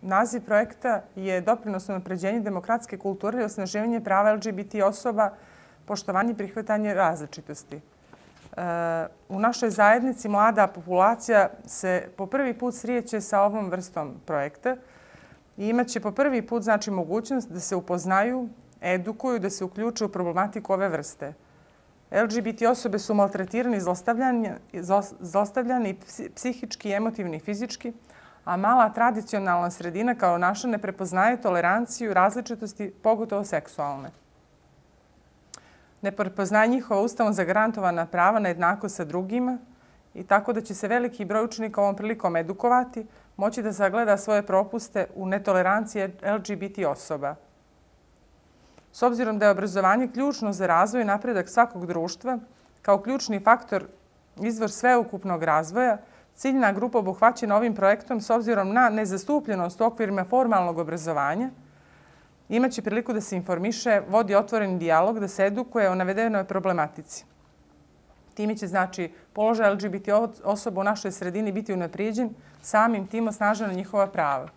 Naziv projekta je doprinos unapređenju demokratske kulture i osnaživanje prava LGBT osoba, poštovanje i prihvatanje različitosti. U našoj zajednici mlada populacija se po prvi put sreće sa ovom vrstom projekta i imaće po prvi put mogućnost da se upoznaju, edukuju, da se uključuju u problematiku ove vrste. LGBT osobe su maltretirane i zlostavljane i psihički, emotivni i fizički, a mala tradicionalna sredina kao naša ne prepoznaje toleranciju, različitosti, pogotovo seksualne. Ne prepoznaje njihova ustavom zagarantovana prava na jednakost sa drugima i tako da će se veliki broj učenika ovom prilikom edukovati, moći da sagleda svoje propuste u netoleranciji LGBT osoba. S obzirom da je obrazovanje ključno za razvoj i napredak svakog društva, kao ključni faktor izvor sveukupnog razvoja, ciljna grupa obuhvaćena ovim projektom s obzirom na nezastupljenost u okvirima formalnog obrazovanja imaće priliku da se informiše, vodi otvoreni dijalog, da se edukuje o navedenoj problematici. Time će položaj LGBT osoba u našoj sredini biti unaprijeđen, samim tim osnažena njihova prava.